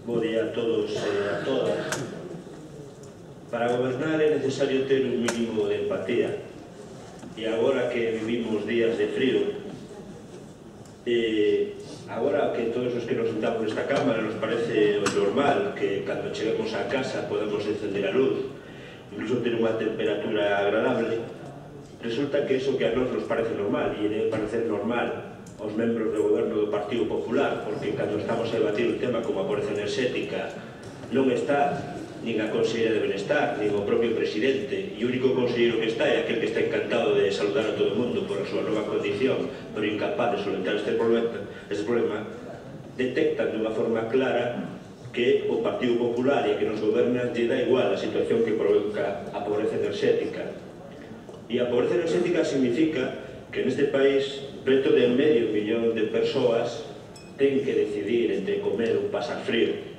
Bo día a todos e a todas. Para gobernar é necesario ter un mínimo de empatía. E agora que vivimos días de frío, agora que todos os que nos sentamos nesta cámara nos parece normal que cando cheguemos a casa podemos encender a luz, incluso ter unha temperatura agradable, resulta que eso que a nós nos parece normal, e debe parecer normal aos membros do goberno do Partido Popular, porque cando estamos a debatir un tema como a pobreza enerxética non está nin a Conselleira de Benestar, nin o propio presidente, e o único conselleiro que está é aquel que está encantado de saludar a todo o mundo por a súa nova condición, pero incapaz de solventar este problema, detectan dunha forma clara que o Partido Popular e que nos goberna lle dá igual a situación que provoca a pobreza enerxética. E a pobreza enerxética significa que neste país preto de medio millón de persoas ten que decidir entre comer ou pasar frío.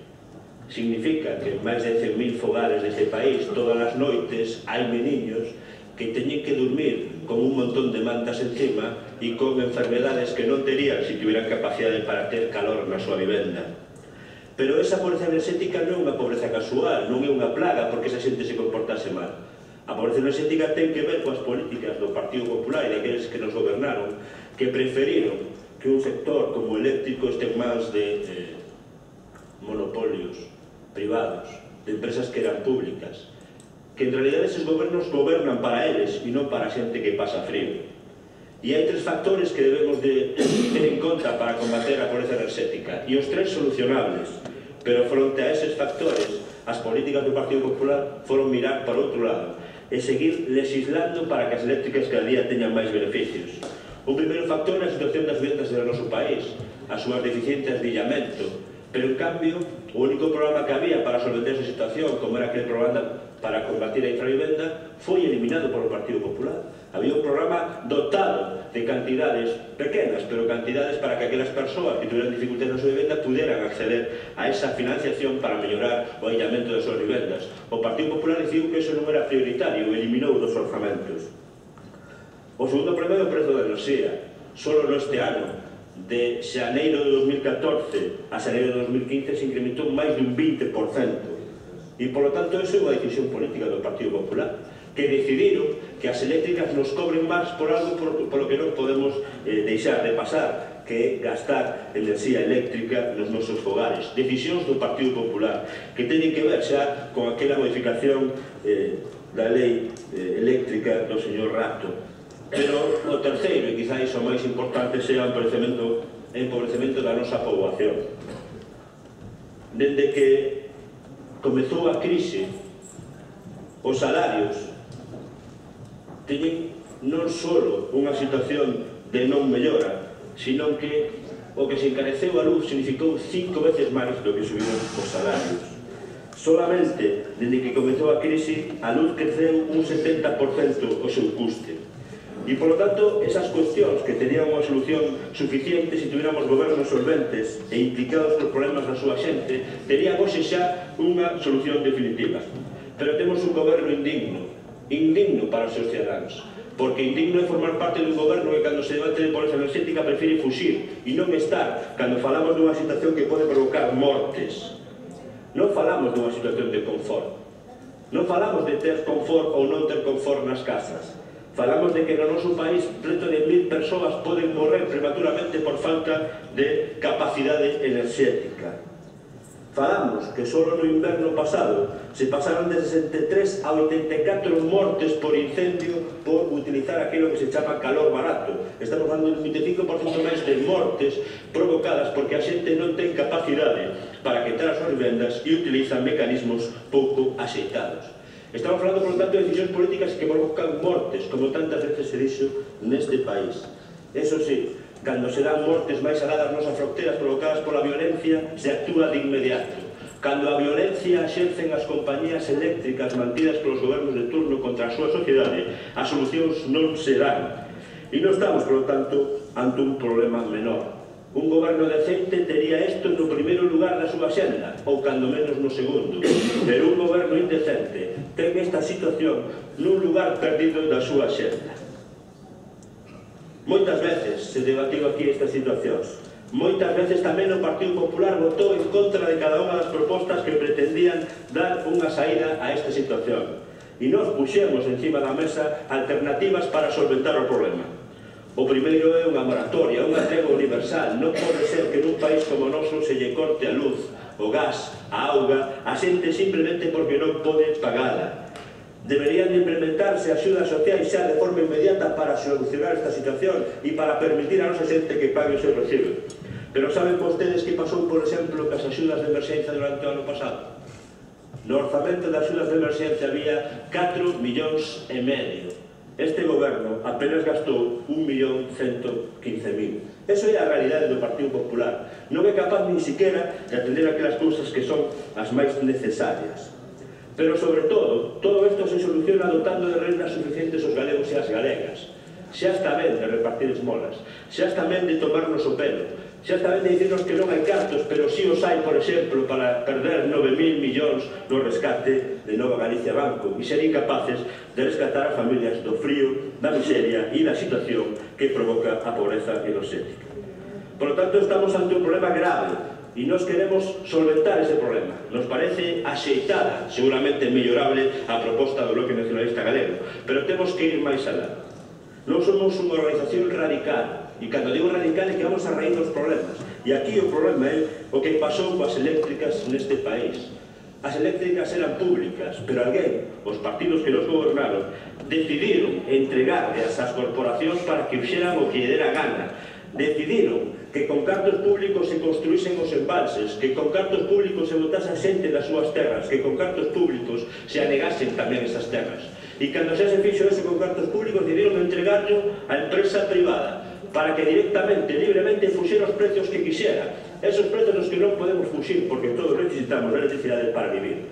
Significa que en máis de 100.000 fogares deste país todas as noites hai meniños que teñen que dormir con un montón de mantas encima e con enfermedades que non terían se tuvieran capacidade para ter calor na súa vivenda. Pero esa pobreza enerxética non é unha pobreza casual, non é unha plaga porque esa xente se comportase mal. A pobreza enerxética ten que ver coas políticas do Partido Popular e daqueles que nos gobernaron, que preferiron que un sector como o eléctrico este en mans de monopolios privados, de empresas que eran públicas, que en realidad esos gobernos gobernan para eles e non para a xente que pasa frío. E hai tres factores que debemos de ter en conta para combater a pobreza enerxética, e os tres solucionables, pero fronte a eses factores, as políticas do Partido Popular foron mirar para outro lado e seguir legislando para que as eléctricas cada día teñan máis beneficios. O primeiro factor é a situación das vivendas do noso país, as súas deficiencias de illamento, pero en cambio o único programa que había para solventar esa situación, como era aquel programa para combatir a infravivenda, foi eliminado por o Partido Popular. Había un programa dotado de cantidades pequenas, pero cantidades para que aquelas persoas que tuvieran dificultades na súa vivenda puderan acceder a esa financiación para mellorar o illamento das súas vivendas. O Partido Popular decidiu que eso non era prioritario e eliminou dos orzamentos. O segundo problema é o prezo da enerxía. Solo neste ano, de xaneiro de 2014 a xaneiro de 2015, se incrementou máis de un 20%. E, polo tanto, eso é unha decisión política do Partido Popular, que decidiron que as eléctricas nos cobren máis por algo polo que non podemos deixar de pasar, que é gastar enerxía eléctrica nos nosos fogares. Decisións do Partido Popular, que teñen que ver xa con aquela modificación da lei eléctrica do señor Rato. Pero o terceiro, e quizá iso máis importante, sea o empobrecemento da nosa poboación. Dende que comezou a crise, os salarios teñen non só unha situación de non mellora, sino que o que se encareceu a luz significou 5 veces máis do que subiron os salarios. Solamente, dende que comezou a crise, a luz creceu un 70% o seu custe. E, polo tanto, esas cuestións que tenían unha solución suficiente se tuviéramos gobernos solventes e implicados nos problemas da súa xente, terían hoxe xa unha solución definitiva. Pero temos un goberno indigno para os seus ciudadanos, porque indigno é formar parte dun goberno que cando se debate de pobreza enerxética prefire fuxir e non estar cando falamos dunha situación que pode provocar mortes. Non falamos dunha situación de confort, non falamos de ter confort ou non ter confort nas casas. Falamos de que no noso país preto de 1.000 persoas poden morrer prematuramente por falta de capacidade enerxética. Falamos que só no inverno pasado se pasaron de 63 a 84 mortes por incendio por utilizar aquilo que se chama calor barato. Estamos falando de un 25% máis de mortes provocadas porque a xente non ten capacidade para quitar as súas vivendas e utilizan mecanismos pouco axeitados. Estamos falando, por lo tanto, de decisións políticas que provocan mortes, como tantas veces se dixo neste país. Eso sí, cando se dan mortes máis alá das nosas fronteiras provocadas pola violencia, se actúa de inmediato. Cando a violencia exercen as compañías eléctricas mantidas polos gobernos de turno contra a súa sociedade, as solucións non se dan. E non estamos, por lo tanto, ante un problema menor. Un goberno decente tería isto no primeiro lugar da súa xenda, ou cando menos no segundo. Pero un goberno indecente ten esta situación nun lugar perdido da súa xenda. Moitas veces se debatiu aquí estas situacións. Moitas veces tamén o Partido Popular votou en contra de cada unha das propostas que pretendían dar unha saída a esta situación. E nos puxemos encima da mesa alternativas para solventar o problema. O primeiro é unha moratoria, unha tregua universal. Non pode ser que nun país como o noso se lle corte a luz, o gas, a auga, a xente simplemente porque non pode pagala. Deberían de implementarse axudas sociais xa de forma inmediata para solucionar esta situación e para permitir a nosa xente que pague o seu recibo. Pero saben vostedes que pasou, por exemplo, que as axudas de emerxencia durante o ano pasado? No orzamento de axudas de emerxencia había 4,5 millóns. Este goberno apenas gastou 1.115.000. Eso é a realidade do Partido Popular. Non é capaz nin siquiera de atender aquelas cousas que son as máis necesarias. Pero, sobre todo isto se soluciona dotando de rendas suficientes aos galegos e as galegas. Xa está ben de repartir esmolas, xa está ben de tomarnos o pelo, xa está ben de dicirnos que non hai cartos, pero si os hai, por exemplo, para perder 9.000 millóns no rescate de Nova Galicia Banco e ser incapaces de rescatar a familias do frío, da miseria e da situación que provoca a pobreza enerxética. Por lo tanto, estamos ante un problema grave e nos queremos solventar ese problema. Nos parece axeitada, seguramente mellorable, a proposta do Bloque Nacionalista Galego, pero temos que ir máis alá. Non somos unha organización radical, e cando digo radical é que vamos a raíz dos problemas. E aquí o problema é o que pasou coas eléctricas neste país. As eléctricas eran públicas, pero alguén, os partidos que nos gobernaron, decidiron entregarlas ás corporacións para que fixeran o que lle dera gana. Decidiron que con cartos públicos se construísen os embalses, que con cartos públicos se botase a xente das súas terras, que con cartos públicos se anegasen tamén esas terras. E cando xa se fixo eso con cartos públicos, decidieron entregarlo á empresa privada para que directamente, libremente, fuxera os precios que quixera. Esos precios nos que non podemos fuxir porque todos necesitamos electricidade para vivir.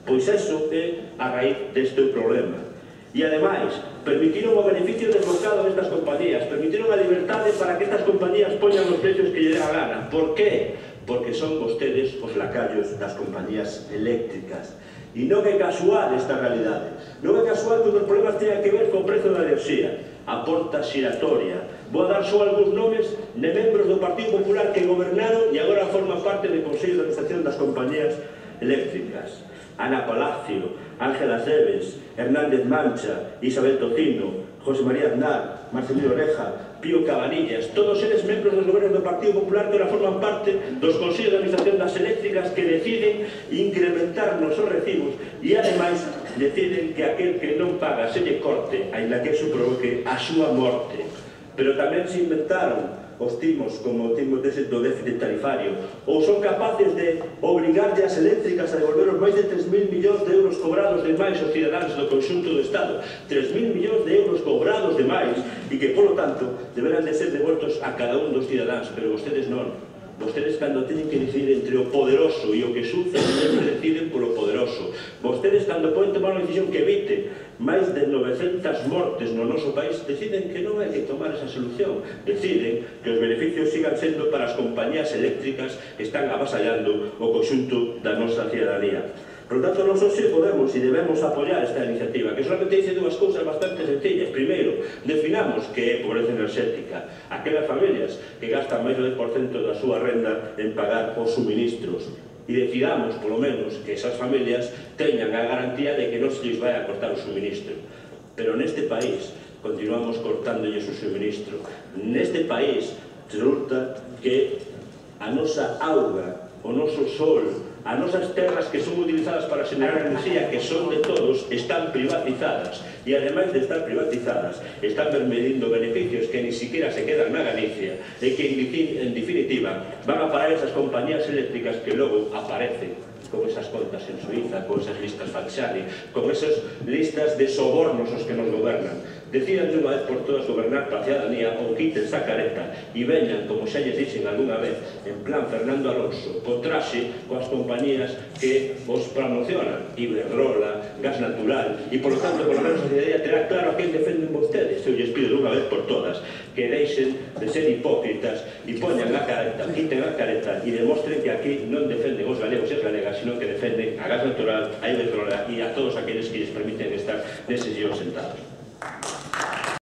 Pois eso é a raíz deste problema. E, ademais, permitiron o beneficio desbocado destas compañías, permitiron a liberdade para que estas compañías poñan os precios que lle dé a gana. Por qué? Porque son vostedes os lacayos das compañías eléctricas. E non é casual esta realidade. Non é casual que os problemas teñan que ver co prezo da enerxía, a porta xiratoria. Vou a dar só algúns nomes de membros do Partido Popular que gobernaron e agora forman parte do Consello de Administración das compañías eléctricas. Ana Palacio, Ángela Cebes, Hernández Mancha, Isabel Tocino, José María Aznar, Marcelino Oreja, Pío Cabanillas, todos eles membros dos gobernos do Partido Popular que ahora forman parte dos Consellos de Administración das eléctricas que deciden incrementarnos os recibos e, ademais, deciden que aquel que non paga se lle corte, ainda que eso provoque a súa morte. Pero tamén se inventaron os timos como o timo do déficit tarifario, ou son capaces de obrigarlle as eléctricas a devolver os máis de 3.000 millóns de euros cobrados de máis aos cidadáns do conxunto do Estado. 3.000 millóns de euros cobrados de máis e que, polo tanto, deberán de ser devoltos a cada un dos cidadáns, pero vostedes non. Vostedes, cando teñen que decidir entre o poderoso e o que sufre, sempre deciden polo poderoso. Vostedes, cando poden tomar unha decisión que evite máis de 900 mortes no noso país, deciden que non hai que tomar esa solución. Deciden que os beneficios sigan sendo para as compañías eléctricas que están avasallando o conxunto da nosa cidadanía. Por lo tanto, nós hoxe podemos e debemos apoiar esta iniciativa, que solamente dice dúas cousas bastante sencillas. Primeiro, definamos que é pobreza enerxética. Aquelas familias que gastan máis do 10% da súa renda en pagar os suministros. E decidamos, polo menos, que esas familias teñan a garantía de que non se lles vai a cortar o suministro. Pero neste país continuamos cortándolles o suministro. Neste país resulta que a nosa auga, o noso sol, as nosas terras que son utilizadas para xenerar enerxía, que son de todos, están privatizadas. E, ademais de estar privatizadas, están medindo beneficios que ni siquiera se quedan na Galicia e que, en definitiva, van a parar esas compañías eléctricas que logo aparecen con esas contas en Suiza, con esas listas falsari, con esas listas de sobornos os que nos gobernan. Decidan de unha vez por todas gobernar para a cidadanía ou quiten esa careta e veñan, como xa lles dixen algunha vez, en plan Fernando Alonso, con traxe coas compañías que os promocionan, Iberdrola, Gas Natural, e, por lo tanto, por lo menos a cidadanía terá claro a quen defenden vostedes. Eu lles pido de unha vez por todas que deixen de ser hipócritas e poñan a careta, quiten a careta e demostren que aquí non defenden os galegos e as galegas, sino que defenden a Gas Natural, a Iberdrola e a todos aqueles que lles permiten estar neses guións sentados.